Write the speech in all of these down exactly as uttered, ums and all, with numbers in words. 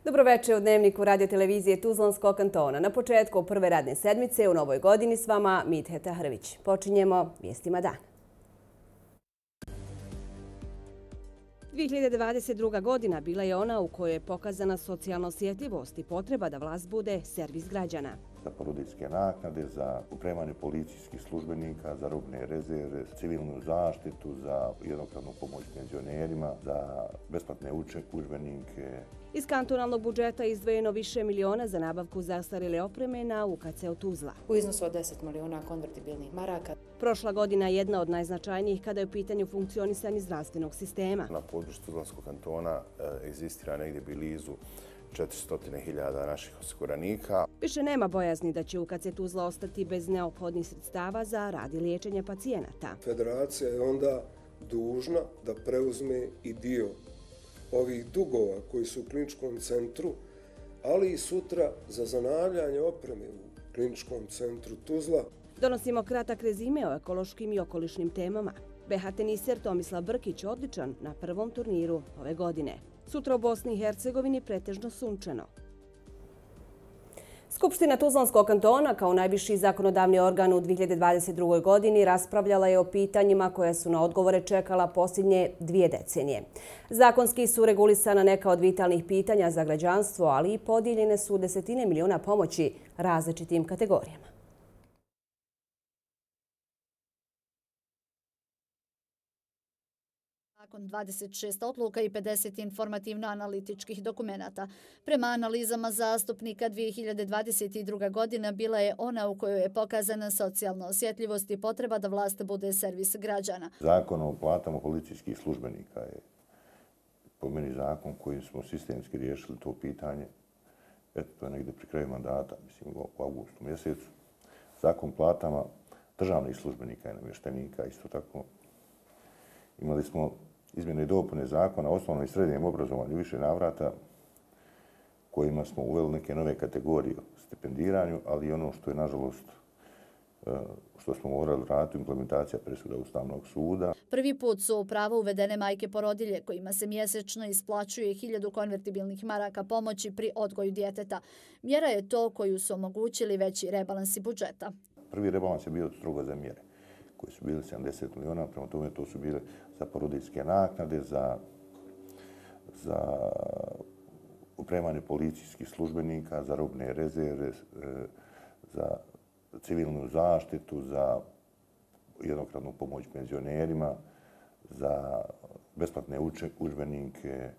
Dobroveče u Dnevniku radio-televizije Tuzlanskog kantona. Na početku prve radne sedmice u novoj godini s vama Midheta Hrvić. Počinjemo vijestima dana. dvije hiljade dvadeset druga. godina bila je ona u kojoj je pokazana socijalna osjetljivost i potreba da vlast bude servis građana. Za porodiljske naknade, za opremanje policijskih službenika, za robne rezerve, civilnu zaštitu, za jednokratnu pomoć penzionerima, za besplatne udžbenike. Iz kantonalnog budžeta izdvojeno više miliona za nabavku zastarjele opreme na U K C-u Tuzla. U iznosu od deset miliona konvertibilnih maraka. Prošla godina je jedna od najznačajnijih kada je u pitanju funkcionisanje zdravstvenog sistema. Na području Tuzlanskog kantona egzistira negdje blizu četiristo hiljada naših osiguranika. Više nema bojazni da će U K C Tuzla ostati bez neophodnih sredstava za rad i liječenje pacijenata. Federacija je onda dužna da preuzme i dio ovih dugova koji su u kliničkom centru, ali i sutra za zanavljanje opreme u kliničkom centru Tuzla. Donosimo kratak rezime o ekološkim i okolišnim temama. B H teniser Tomislav Brkić odličan na prvom turniru ove godine. Sutra u Bosni i Hercegovini pretežno sunčano. Skupština Tuzlanskog kantona kao najviši zakonodavni organ u dvije hiljade dvadeset drugoj. godini raspravljala je o pitanjima koja su na odgovore čekala posljednje dvije decenije. Zakonski su regulisana neka od vitalnih pitanja za građanstvo, ali i podijeljene su desetine miliona pomoći različitim kategorijama. Nakon dvadeset šest odluka i pedeset informativno-analitičkih dokumenata. Prema analizama zastupnika dvije hiljade dvadeset druga. godina bila je ona u kojoj je pokazana socijalna osjetljivost i potreba da vlast bude servis građana. Zakon o platama policijskih službenika je po meni zakon kojim smo sistemski riješili to pitanje. Eto, to je negdje pri kraju mandata, mislim u augustu mjesecu. Zakon o platama državnih službenika i namještenika isto tako. Imali smo izmjene i dopune zakona o osnovnom i srednjem obrazovanju više navrata kojima smo uveli neke nove kategorije u stipendiranju, ali i ono što je, nažalost, što smo morali raditi, implementacija presuda Ustavnog suda. Prvi put su u pravo uvedene majke porodilje kojima se mjesečno isplaćuje hiljadu konvertibilnih maraka pomoći pri odgoju djeteta. Mjera je to koju su omogućili veći rebalansi budžeta. Prvi rebalans je bio strogo za mjere koji su bili sedamdeset miliona, prema tome to su bile za porodiljske naknade, za, za opremanje policijskih službenika, za robne rezerve, za civilnu zaštitu, za jednokratnu pomoć penzionerima, za besplatne udžbenike,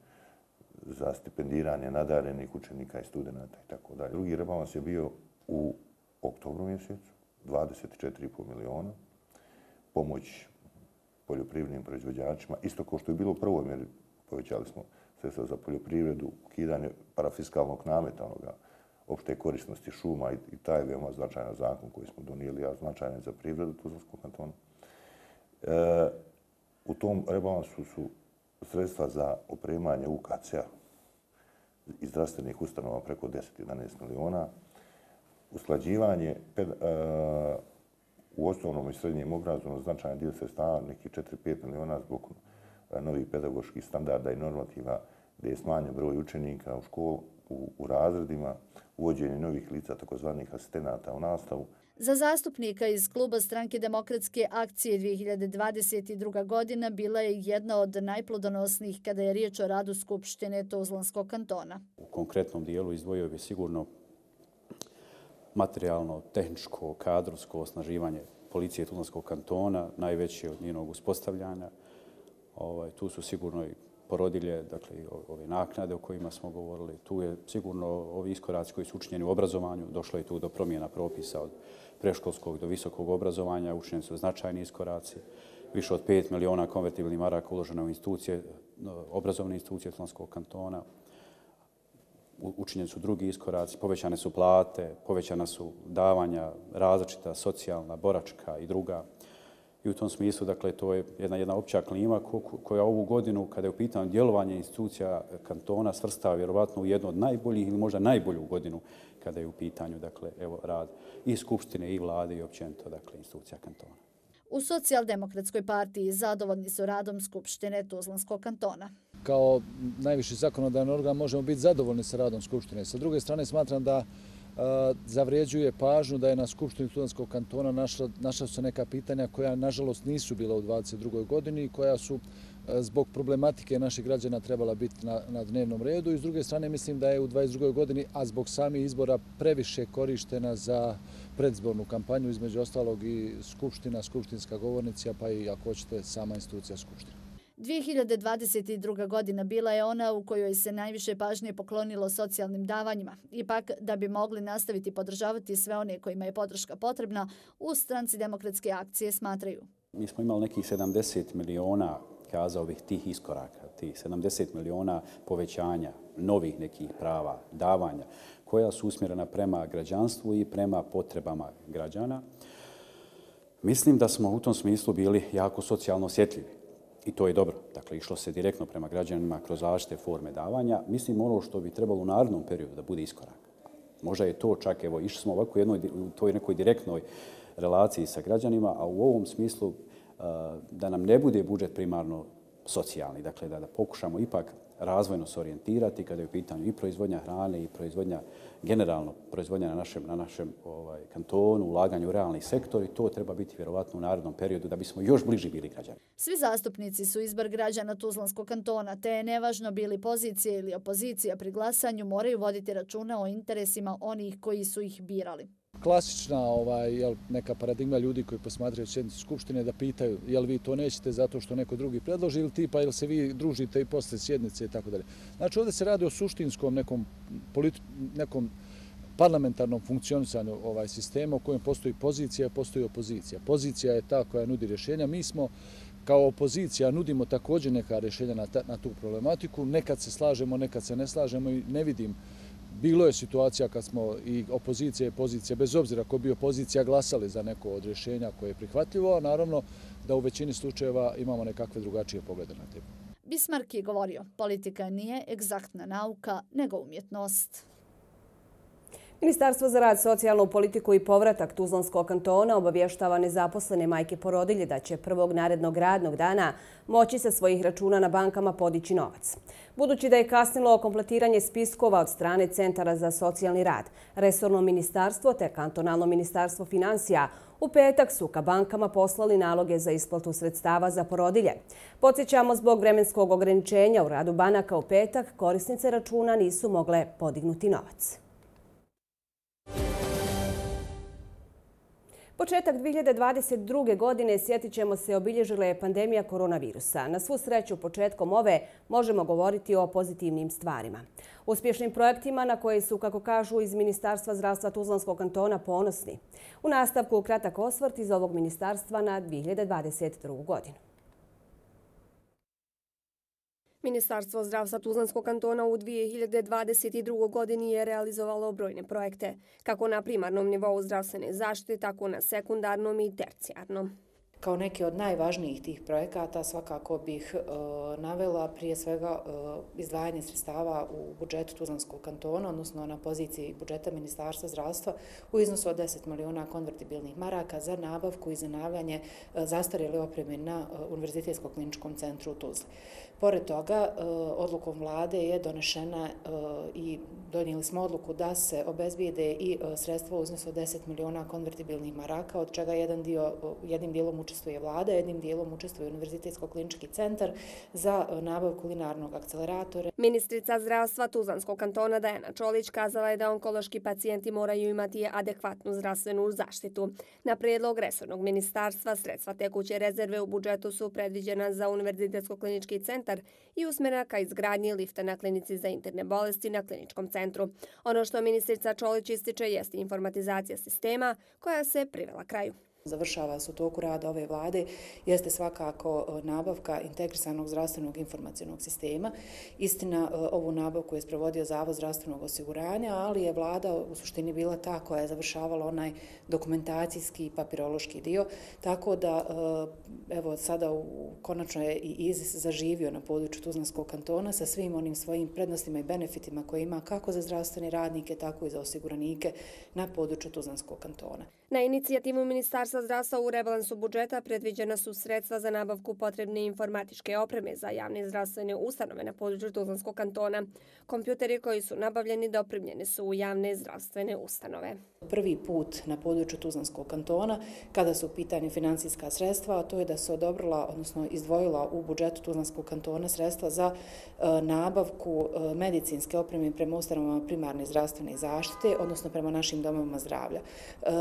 za stipendiranje nadarenih učenika i studenata itd. Drugi rebalans je bio u oktobru mjesecu, dvadeset četiri i pol miliona. Pomoć poljoprivrednim proizvođačima. Isto kao što je bilo u prvoj mjeri, povećali smo sredstva za poljoprivredu, ukidanje parafiskalnog nameta, onoga opšte korisnosti šuma i, i taj je veoma značajan zakon koji smo donijeli, a značajan za privredu Tuzlanskog kantona. E, u tom rebalansu su sredstva za opremanje U K C-a i zdravstvenih ustanova preko deset do jedanaest miliona, usklađivanje ped, e, u osnovnom i srednjem obrazovanju značajan dio sredstava, nekih četiri do pet miliona zbog novih pedagoških standarda i normativa gdje je smanjen broj učenika u školu, u, u razredima, uvođenje novih lica, takozvanih asistenata u nastavu. Za zastupnika iz kluba Stranke demokratske akcije dvije hiljade dvadeset druga. godina bila je jedna od najplodonosnijih kada je riječ o radu Skupštine Tuzlanskog kantona. U konkretnom dijelu izdvojio bi sigurno materijalno, tehničko, kadrovsko osnaživanje policije Tuzlanskog kantona, najveće od njenog uspostavljanja. Ovaj, tu su sigurno i porodilje, dakle i ove naknade o kojima smo govorili. Tu je sigurno ovi iskoraci koji su učinjeni u obrazovanju. Došlo je tu do promjena propisa od predškolskog do visokog obrazovanja. Učinjeni su značajni iskoraci. Više od pet miliona konvertibilnih maraka uloženo u institucije, obrazovne institucije Tuzlanskog kantona. Učinjeni su drugi iskoraci, povećane su plate, povećana su davanja različita, socijalna, boračka i druga. I u tom smislu, dakle, to je jedna, jedna opća klima koja ovu godinu, kada je u pitanju djelovanje institucija kantona, svrstava vjerovatno u jednu od najboljih ili možda najbolju godinu kada je u pitanju, dakle, evo, rad i Skupštine i vlade i općenito, dakle, institucija kantona. U Socijaldemokratskoj partiji zadovoljni su radom Skupštine Tuzlanskog kantona. kao najviši zakonodavni organ možemo biti zadovoljni sa radom Skupštine. Sa druge strane smatram da zavrijeđuje pažnju da je na Skupštini Tuzlanskog kantona našla, našla su neka pitanja koja nažalost nisu bila u dvadeset drugoj godini i koja su zbog problematike naših građana trebala biti na, na dnevnom redu. I s druge strane mislim da je u dvadeset drugoj godini, a zbog samih izbora previše korištena za predzbornu kampanju, između ostalog i Skupština, skupštinska govornica, pa i ako hoćete sama institucija Skupštine. dvije hiljade dvadeset druga. godina bila je ona u kojoj se najviše pažnje poklonilo socijalnim davanjima. Ipak, da bi mogli nastaviti podržavati sve one kojima je podrška potrebna, u Stranci demokratske akcije smatraju. Mi smo imali nekih sedamdeset miliona, kazao bih, tih iskoraka, tih sedamdeset miliona povećanja novih nekih prava, davanja, koja su usmjerena prema građanstvu i prema potrebama građana. Mislim da smo u tom smislu bili jako socijalno osjetljivi. I to je dobro. Dakle, išlo se direktno prema građanima kroz različite forme davanja. Mislim, ono što bi trebalo u narednom periodu da bude iskorak. Možda je to čak, evo, išli smo ovako u jednoj, u toj nekoj direktnoj relaciji sa građanima, a u ovom smislu da nam ne bude budžet primarno socijalni. Dakle, da, da pokušamo ipak razvojno se orijentirati kada je u pitanju i proizvodnja hrane i proizvodnja, generalno proizvodnja na našem, na našem ovaj, kantonu, ulaganje u realni sektor i to treba biti vjerovatno u narednom periodu da bismo još bliži bili građani. Svi zastupnici su izbor građana Tuzlanskog kantona, te je nevažno bili pozicija ili opozicija pri glasanju, moraju voditi računa o interesima onih koji su ih birali. Klasična ovaj, jel, neka paradigma ljudi koji posmatraju sjednicu Skupštine da pitaju jel vi to nećete zato što neko drugi predloži ili tipa jel se vi družite i posle sjednice i tako dalje. Znači ovdje se radi o suštinskom nekom, politi nekom parlamentarnom funkcionisanju ovaj sistema u kojem postoji pozicija, postoji opozicija. Pozicija je ta koja nudi rješenja. Mi smo kao opozicija nudimo također neka rješenja na, ta, na tu problematiku. Nekad se slažemo, nekad se ne slažemo i ne vidim. Bilo je situacija kad smo i opozicija i pozicija, bez obzira ko bi opozicija, glasali za neko od rješenja koje je prihvatljivo, a naravno da u većini slučajeva imamo nekakve drugačije poglede na temu. Bismarck je govorio, politika nije egzaktna nauka, nego umjetnost. Ministarstvo za rad, socijalnu politiku i povratak Tuzlanskog kantona obavještava nezaposlene majke porodilje da će prvog narednog radnog dana moći sa svojih računa na bankama podići novac. Budući da je kasnilo kompletiranje spiskova od strane Centara za socijalni rad, Resorno ministarstvo te Kantonalno ministarstvo financija u petak su ka bankama poslali naloge za isplatu sredstava za porodilje. Podsjećamo, zbog vremenskog ograničenja u radu banaka u petak, korisnice računa nisu mogle podignuti novac. Početak dvije hiljade dvadeset druge. godine, sjetit ćemo se, obilježila je pandemija koronavirusa. Na svu sreću, početkom ove možemo govoriti o pozitivnim stvarima. Uspješnim projektima na koje su, kako kažu iz Ministarstva zdravstva Tuzlanskog kantona, ponosni. U nastavku kratak osvrt iz ovog ministarstva na dvije hiljade dvadeset drugu. godinu. Ministarstvo zdravstva Tuzlanskog kantona u dvije hiljade dvadeset drugoj. godini je realizovalo brojne projekte, kako na primarnom nivou zdravstvene zaštite, tako na sekundarnom i tercijarnom. Kao neki od najvažnijih tih projekata svakako bih e, navela prije svega e, izdvajanje sredstava u budžetu Tuzlanskog kantona, odnosno na poziciji budžeta Ministarstva zdravstva u iznosu od deset miliona konvertibilnih maraka za nabavku i zanavljanje e, zastarjele opreme na e, Univerzitetskom kliničkom centru u Tuzli. Pored toga, e, odlukom vlade je donešena e, i donijeli smo odluku da se obezbijede i e, sredstva u iznosu od deset miliona konvertibilnih maraka, od čega jedan dio, jednim dijelom učestvuje vlada, jednim dijelom učestvuje Univerzitetsko klinički centar za nabavku linearnog akceleratora. Ministrica zdravstva Tuzlanskog kantona Dajana Čolić kazala je da onkološki pacijenti moraju imati adekvatnu zdravstvenu zaštitu. Na prijedlog resornog ministarstva sredstva tekuće rezerve u budžetu su predviđena za Univerzitetsko klinički centar i usmjerena ka izgradnji lifta na klinici za interne bolesti na kliničkom centru. Ono što ministrica Čolić ističe jeste informatizacija sistema koja se privela kraju. Završava se u toku rada ove vlade, jeste svakako nabavka integrisanog zdravstvenog informacionog sistema. Istina, ovu nabavku je sprovodio Zavod zdravstvenog osiguranja, ali je vlada u suštini bila ta koja je završavala onaj dokumentacijski i papirološki dio. Tako da, evo, sada u, konačno je i I Z I S zaživio na području Tuzlanskog kantona sa svim onim svojim prednostima i benefitima koje ima kako za zdravstvene radnike, tako i za osiguranike na području Tuzlanskog kantona. Na inicijativu Ministarstva zdravstva u rebalansu budžeta predviđena su sredstva za nabavku potrebne informatičke opreme za javne zdravstvene ustanove na području Tuzlanskog kantona. Kompjuteri koji su nabavljeni dopremljeni su u javne zdravstvene ustanove. Prvi put na području Tuzlanskog kantona, kada su u pitanju financijska sredstva, a to je da se odobrila, odnosno izdvojila u budžetu Tuzlanskog kantona sredstva za e, nabavku e, medicinske opreme prema ustanovama primarne zdravstvene zaštite, odnosno prema našim domovima zdravlja. E,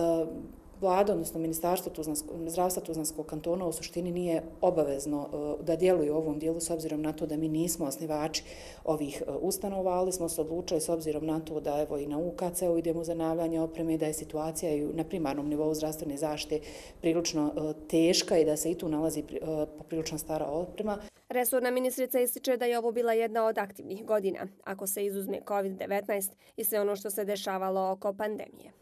Vlada, odnosno Ministarstvo zdravstva Tuzlanskog kantona u suštini nije obavezno da djeluje u ovom dijelu s obzirom na to da mi nismo osnivači ovih ustanova, ali smo se odlučili s obzirom na to da evo i na U K C-u idemo za nabavljanje opreme, da je situacija i na primarnom nivou zdravstvene zaštite prilično teška i da se i tu nalazi poprilično stara oprema. Resorna ministrica ističe da je ovo bila jedna od aktivnih godina, ako se izuzme kovid devetnaest i sve ono što se dešavalo oko pandemije.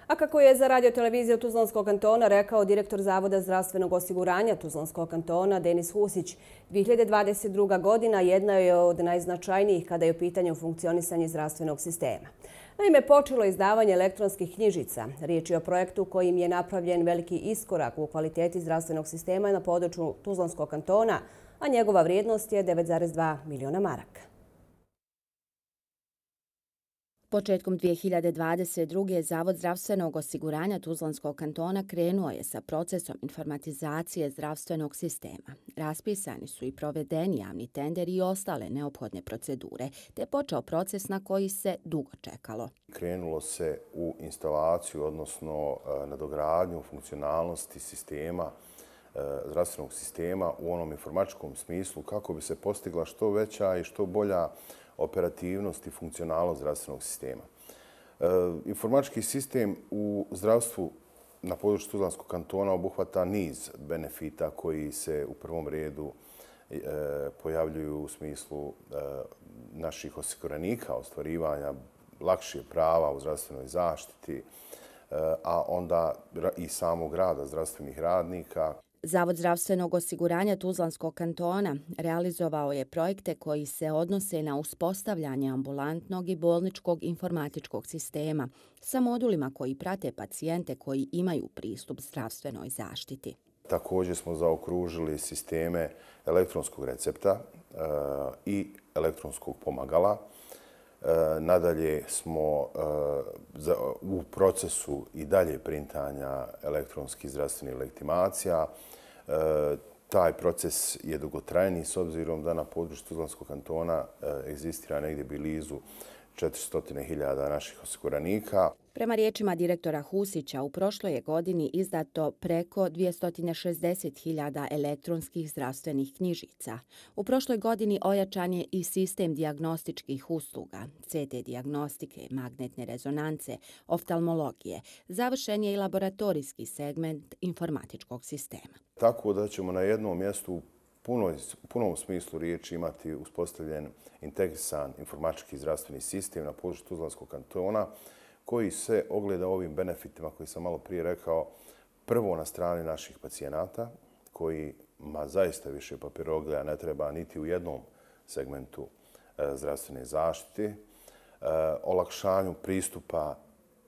A kako je za radioteleviziju Tuzlanskog kantona rekao direktor Zavoda zdravstvenog osiguranja Tuzlanskog kantona Denis Husić, dvije hiljade dvadeset druga. godina jedna je od najznačajnijih kada je u pitanju funkcionisanje zdravstvenog sistema. Naime, počelo je izdavanje elektronskih knjižica. Riječ je o projektu kojim je napravljen veliki iskorak u kvaliteti zdravstvenog sistema na području Tuzlanskog kantona, a njegova vrijednost je devet zarez dva miliona maraka. Početkom dvije hiljade dvadeset druge. Zavod zdravstvenog osiguranja Tuzlanskog kantona krenuo je sa procesom informatizacije zdravstvenog sistema. Raspisani su i provedeni javni tenderi i ostale neophodne procedure, te je počeo proces na koji se dugo čekalo. Krenulo se u instalaciju, odnosno nadogradnju funkcionalnosti sistema, zdravstvenog sistema u onom informatičkom smislu kako bi se postigla što veća i što bolja operativnost i funkcionalnost zdravstvenog sistema. E, informatički sistem u zdravstvu na području Tuzlanskog kantona obuhvata niz benefita koji se u prvom redu e, pojavljuju u smislu e, naših osiguranika, ostvarivanja lakših prava u zdravstvenoj zaštiti, e, a onda i samog rada zdravstvenih radnika. Zavod zdravstvenog osiguranja Tuzlanskog kantona realizovao je projekte koji se odnose na uspostavljanje ambulantnog i bolničkog informatičkog sistema sa modulima koji prate pacijente koji imaju pristup zdravstvenoj zaštiti. Također smo zaokružili sisteme elektronskog recepta e, i elektronskog pomagala. E, nadalje smo e, za, u procesu i dalje printanja elektronskih zdravstvenih legitimacija. E, taj proces je dugotrajni s obzirom da na području Tuzlanskog kantona e, egzistira negdje blizu četiristo hiljada naših osiguranika. Prema riječima direktora Husića, u prošloj je godini izdato preko dvjesto šezdeset hiljada elektronskih zdravstvenih knjižica. U prošloj godini ojačan je i sistem dijagnostičkih usluga, C T dijagnostike, magnetne rezonance, oftalmologije. Završen je i laboratorijski segment informatičkog sistema. Tako da ćemo na jednom mjestu u punom smislu riječi imati uspostavljen integrisan informatički zdravstveni sistem na području Tuzlanskog kantona koji se ogleda ovim benefitima koji sam malo prije rekao, prvo na strani naših pacijenata kojima zaista više papirologija ne treba niti u jednom segmentu zdravstvene zaštite, olakšanju pristupa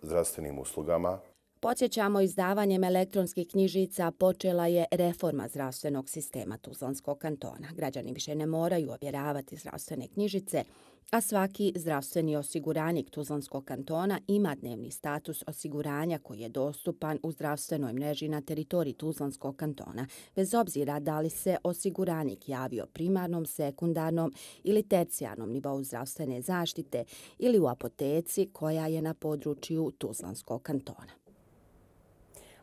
zdravstvenim uslugama. Podsjećamo, izdavanjem elektronskih knjižica počela je reforma zdravstvenog sistema Tuzlanskog kantona. Građani više ne moraju ovjeravati zdravstvene knjižice, a svaki zdravstveni osiguranik Tuzlanskog kantona ima dnevni status osiguranja koji je dostupan u zdravstvenoj mreži na teritoriji Tuzlanskog kantona, bez obzira da li se osiguranik javio primarnom, sekundarnom ili tercijarnom nivou zdravstvene zaštite ili u apoteci koja je na području Tuzlanskog kantona.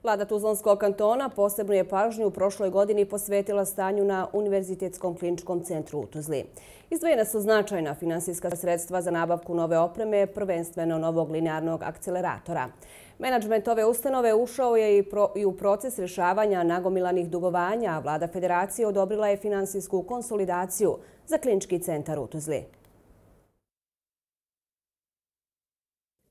Vlada Tuzlanskog kantona posebnu je pažnju u prošloj godini posvetila stanju na Univerzitetskom kliničkom centru u Tuzli. Izdvojena su značajna finansijska sredstva za nabavku nove opreme, prvenstveno novog linearnog akceleratora. Menadžment ove ustanove ušao je i u proces rješavanja nagomilanih dugovanja, a Vlada Federacije odobrila je finansijsku konsolidaciju za klinički centar u Tuzli.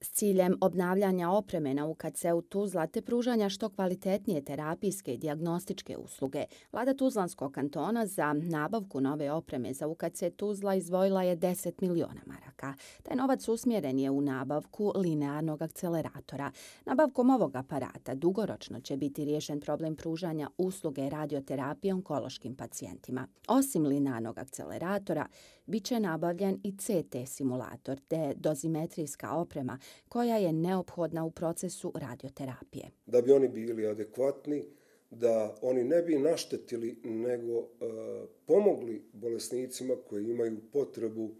S ciljem obnavljanja opreme na U K C-u Tuzla te pružanja što kvalitetnije terapijske i dijagnostičke usluge, vlada Tuzlanskog kantona za nabavku nove opreme za U K C Tuzla izdvojila je deset miliona maraka. Taj novac usmjeren je u nabavku linearnog akceleratora. Nabavkom ovog aparata dugoročno će biti riješen problem pružanja usluge radioterapije onkološkim pacijentima. Osim linearnog akceleratora, bit će nabavljen i C T simulator te dozimetrijska oprema koja je neophodna u procesu radioterapije. Da bi oni bili adekvatni, da oni ne bi naštetili, nego e, pomogli bolesnicima koji imaju potrebu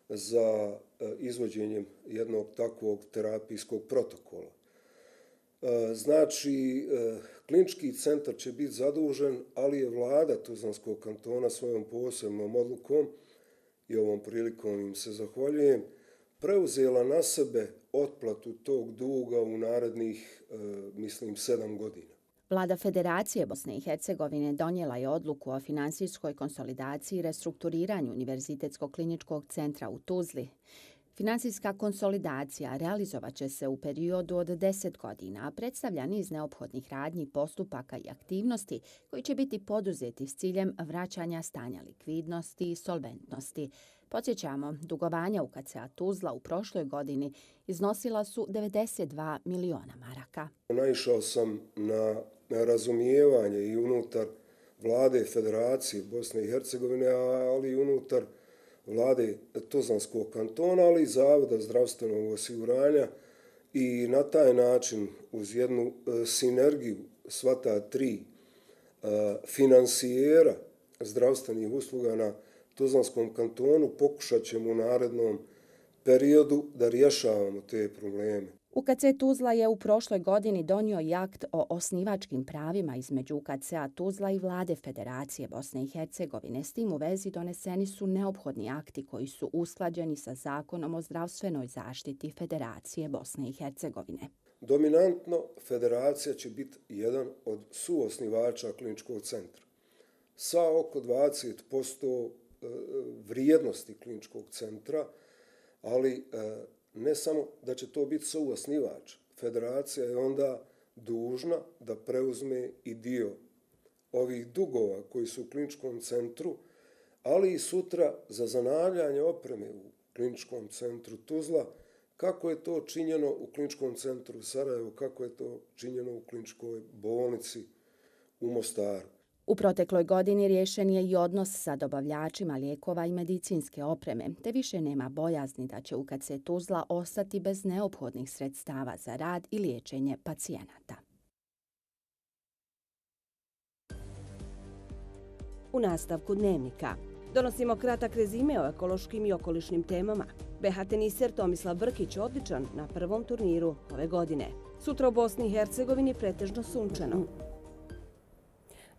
za e, izvođenjem jednog takvog terapijskog protokola. E, znači, e, klinički centar će biti zadužen, ali je vlada Tuzlanskog kantona svojom posebnom odlukom, i ovom prilikom im se zahvaljujem, preuzela na sebe otplatu tog duga u narednih, e, mislim, sedam godina. Vlada Federacije Bosne i Hercegovine donijela je odluku o finansijskoj konsolidaciji i restrukturiranju Univerzitetskog kliničkog centra u Tuzli. Finansijska konsolidacija realizovat će se u periodu od deset godina, a predstavlja niz neophodnih radnji, postupaka i aktivnosti koji će biti poduzeti s ciljem vraćanja stanja likvidnosti i solventnosti. Podsjećamo, dugovanja U K C-a Tuzla u prošloj godini iznosila su devedeset dva miliona maraka. Naišao sam na razumijevanje i unutar vlade Federacije Bosne i Hercegovine, ali i unutar vlade Tuzlanskog kantona, ali i Zavoda zdravstvenog osiguranja, i na taj način uz jednu sinergiju sva ta tri finansijera zdravstvenih usluga na Tuzlanskom kantonu pokušat ćemo u narednom periodu da rješavamo te probleme. U K C Tuzla je u prošloj godini donio i akt o osnivačkim pravima između U K C-a Tuzla i vlade Federacije Bosne i Hercegovine. S tim u vezi doneseni su neophodni akti koji su usklađeni sa Zakonom o zdravstvenoj zaštiti Federacije Bosne i Hercegovine. Dominantno, Federacija će biti jedan od suosnivača kliničkog centra. Sa oko dvadeset posto vrijednosti kliničkog centra, ali ne samo da će to biti suosnivač. Federacija je onda dužna da preuzme i dio ovih dugova koji su u kliničkom centru, ali i sutra za zanavljanje opreme u kliničkom centru Tuzla, kako je to činjeno u kliničkom centru Sarajevo, kako je to činjeno u kliničkoj bolnici u Mostaru. U protekloj godini riješen je i odnos sa dobavljačima lijekova i medicinske opreme, te više nema bojazni da će U K C Tuzla ostati bez neophodnih sredstava za rad i liječenje pacijenata. U nastavku dnevnika donosimo kratak rezime o ekološkim i okolišnim temama. B H teniser Tomislav Brkić odličan na prvom turniru ove godine. Sutra u Bosni i Hercegovini pretežno sunčano.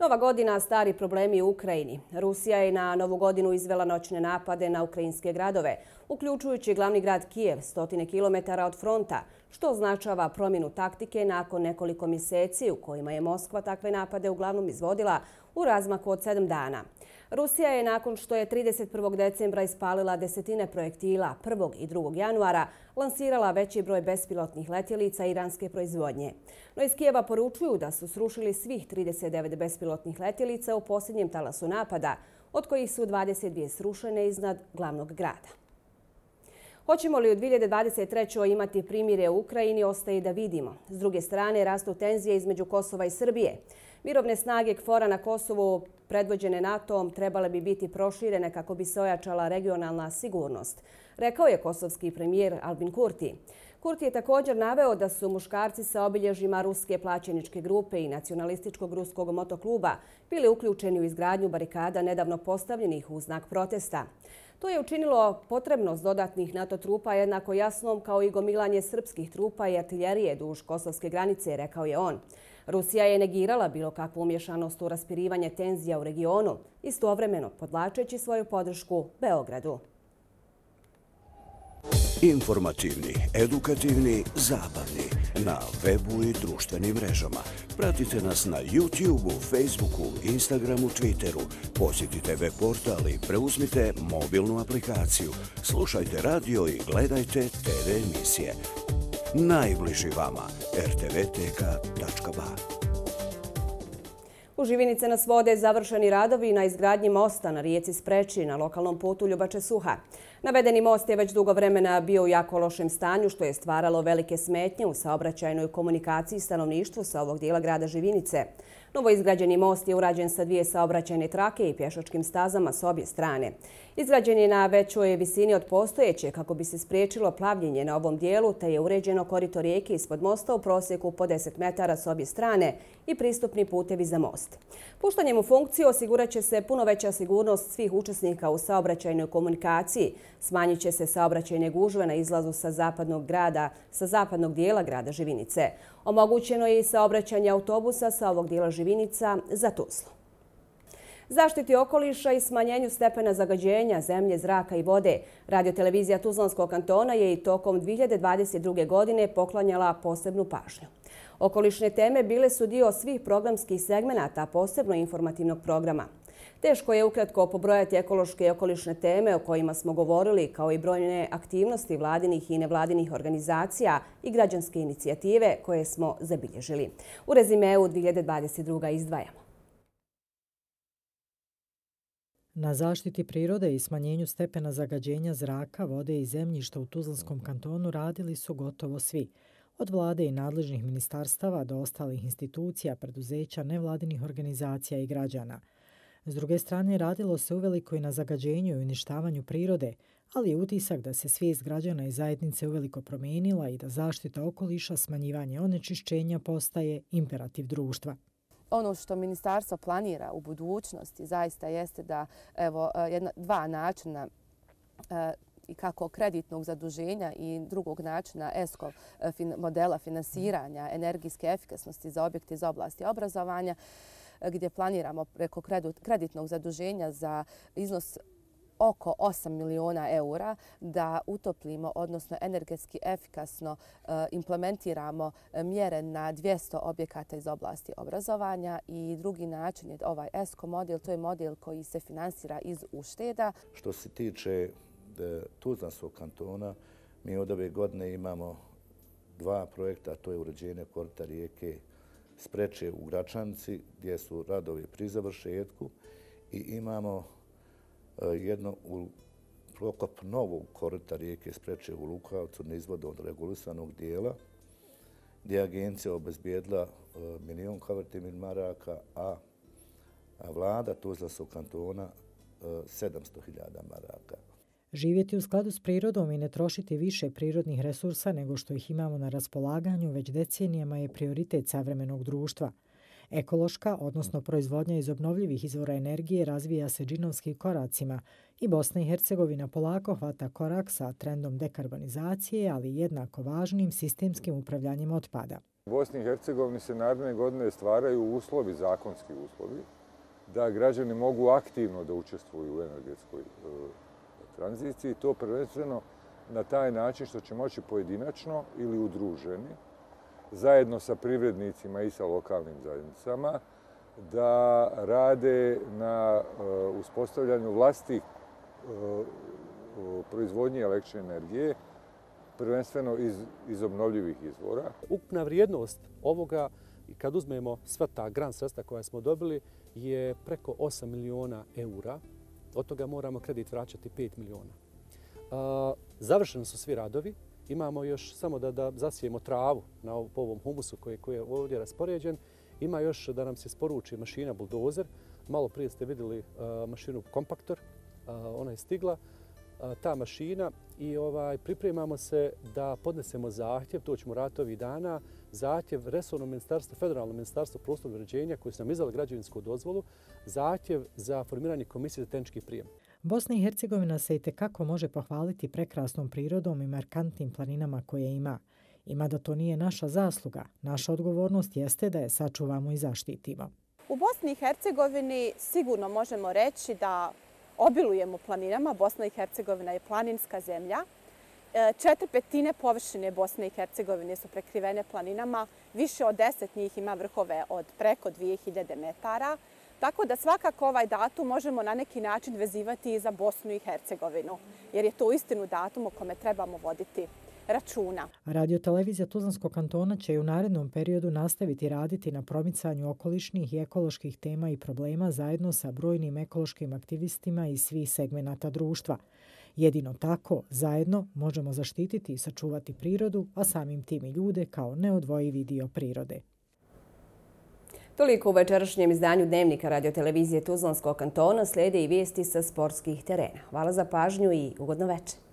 Nova godina, stari problemi u Ukrajini. Rusija je na Novu godinu izvela noćne napade na ukrajinske gradove, uključujući glavni grad Kijev, stotine kilometara od fronta, što označava promjenu taktike nakon nekoliko mjeseci u kojima je Moskva takve napade uglavnom izvodila u razmaku od sedam dana. Rusija je nakon što je trideset prvog decembra ispalila desetine projektila prvog i drugog januara lansirala veći broj bespilotnih letjelica iranske proizvodnje. No iz Kijeva poručuju da su srušili svih trideset devet bespilotnih letjelica u posljednjem talasu napada, od kojih su dvadeset dvije srušene iznad glavnog grada. Hoćemo li u dvije hiljade dvadeset trećoj imati primirje u Ukrajini, ostaje da vidimo. S druge strane, rastu tenzije između Kosova i Srbije. Mirovne snage K F O R-a na Kosovu, predvođene NATO-om, trebale bi biti proširene kako bi se ojačala regionalna sigurnost, rekao je kosovski premijer Albin Kurti. Kurti je također naveo da su muškarci sa obilježjima ruske plaćeničke grupe i nacionalističkog ruskog motokluba bili uključeni u izgradnju barikada nedavno postavljenih u znak protesta. To je učinilo potrebnost dodatnih NATO trupa jednako jasnom kao i gomilanje srpskih trupa i artiljerije duž kosovske granice, rekao je on. Rusija je negirala bilo kakvu umješanost u raspirivanje tenzija u regionu, istovremeno podvlačeći svoju podršku Beogradu. Informativni, edukativni, zabavni. Na webu i društvenim mrežama. Pratite nas na YouTubeu, Facebooku, Instagramu, Twitteru. Posjetite web portal i preuzmite mobilnu aplikaciju. Slušajte radio i gledajte te ve emisije. najbliži vama. er te ve teka tačka ba. U Živinice nas vode završeni radovi na izgradnji mosta na rijeci Spreči na lokalnom putu Ljubače-Suha. Navedeni most je već dugo vremena bio u jako lošem stanju, što je stvaralo velike smetnje u saobraćajnoj komunikaciji stanovništvu sa ovog dijela grada Živinice. Novoizgrađeni most je urađen sa dvije saobraćajne trake i pješačkim stazama s obje strane. Izgrađen je na većoj visini od postojeće kako bi se spriječilo plavljenje na ovom dijelu, te je uređeno korito rijeke ispod mosta u prosjeku po deset metara s obje strane i pristupni putevi za most. Puštanjem u funkciju osigurat će se puno veća sigurnost svih učesnika u saobraćajnoj komunikaciji, smanjit će se saobraćajne gužve na izlazu sa zapadnog grada, sa zapadnog dijela grada Živinice. Omogućeno je i saobraćanje autobusa sa ovog dijela Živinica za Tuzlu. Zaštiti okoliša i smanjenju stepena zagađenja zemlje, zraka i vode, radiotelevizija Tuzlanskog kantona je i tokom dvije hiljade dvadeset druge. godine poklanjala posebnu pažnju. Okolišne teme bile su dio svih programskih segmenata, posebno informativnog programa. Teško je ukratko pobrojati ekološke i okolišne teme o kojima smo govorili, kao i brojne aktivnosti vladinih i nevladinih organizacija i građanske inicijative koje smo zabilježili. U rezimeu dvije hiljade dvadeset druge. izdvajamo. Na zaštiti prirode i smanjenju stepena zagađenja zraka, vode i zemljišta u Tuzlanskom kantonu radili su gotovo svi. Od vlade i nadležnih ministarstava do ostalih institucija, preduzeća, nevladinih organizacija i građana. S druge strane, radilo se uveliko i na zagađenju i uništavanju prirode, ali je utisak da se svijest građana i zajednice uveliko promijenila i da zaštita okoliša, smanjivanje onečišćenja postaje imperativ društva. Ono što ministarstvo planira u budućnosti zaista jeste da evo, jedna, dva načina i kako kreditnog zaduženja i drugog načina E S C O modela finansiranja energijske efikasnosti za objekte iz oblasti obrazovanja, gdje planiramo preko kreditnog zaduženja za iznos oko osam miliona eura da utoplimo, odnosno energetski efikasno implementiramo mjere na dvjesto objekata iz oblasti obrazovanja. I drugi način je ovaj E S C O model, to je model koji se finansira iz ušteda. Što se tiče Tuzlanskog kantona, mi od ove godine imamo dva projekta, to je uređenje korita rijeke Spreče u Gračanici, gdje su radovi pri završetku, i imamo jedno u prokop novog korita rijeke Spreče u Lukavcu na izvodu od regulisanog dijela, gdje je agencija obezbijedila milion kvadrativnih maraka, a vlada Tuzlanskog kantona sedamsto hiljada maraka. Živjeti u skladu s prirodom i ne trošiti više prirodnih resursa nego što ih imamo na raspolaganju već decenijama je prioritet savremenog društva. Ekološka, odnosno proizvodnja iz obnovljivih izvora energije, razvija se džinovskim koracima i Bosna i Hercegovina polako hvata korak sa trendom dekarbonizacije, ali jednako važnim sistemskim upravljanjem otpada. U Bosni i Hercegovini se naredne godine stvaraju uslovi, zakonski uslovi, da građani mogu aktivno da učestvuju u energetskoj tranziciji. To prvenstveno na taj način što će moći pojedinačno ili udruženi, zajedno sa privrednicima i sa lokalnim zajednicama, da rade na uspostavljanju vlastitih proizvodnje električne energije, prvenstveno iz, iz obnovljivih izvora. Ukupna vrijednost ovoga, kad uzmemo sva ta grant sredstva koja smo dobili, je preko osam miliona eura. Od toga moramo kredit vraćati pet miliona. Završeni su svi radovi. Imamo još samo da, da zasijemo travu na po ovom humusu koji, koji je ovdje raspoređen. Ima još da nam se isporuči mašina buldozer. Malo prije ste vidjeli uh, mašinu kompaktor. Uh, ona je stigla. Uh, ta mašina i ovaj, pripremamo se da podnesemo zahtjev, to ćemo raditi ovih dana, zahtjev resornom ministarstvu, federalnom ministarstvu prostornog uređenja koji su nam izdali građevinsku dozvolu, zahtjev za formiranje komisije za tehnički prijem. Bosna i Hercegovina se itekako može pohvaliti prekrasnom prirodom i markantnim planinama koje ima. Ima da to nije naša zasluga. Naša odgovornost jeste da je sačuvamo i zaštitimo. U Bosni i Hercegovini sigurno možemo reći da obilujemo planinama. Bosna i Hercegovina je planinska zemlja. Četiri petine površine Bosne i Hercegovine su prekrivene planinama. Više od deset njih ima vrhove od preko dvije hiljade metara. Tako da svakako ovaj datum možemo na neki način vezivati i za Bosnu i Hercegovinu, jer je to uistinu datum o kome trebamo voditi računa. Radiotelevizija Tuzlanskog kantona će i u narednom periodu nastaviti raditi na promicanju okolišnih i ekoloških tema i problema zajedno sa brojnim ekološkim aktivistima iz svih segmenata društva. Jedino tako, zajedno, možemo zaštititi i sačuvati prirodu, a samim tim i ljude kao neodvojivi dio prirode. Toliko u večerašnjem izdanju Dnevnika radiotelevizije Tuzlanskog kantona. Slijede i vijesti sa sportskih terena. Hvala za pažnju i ugodno večer.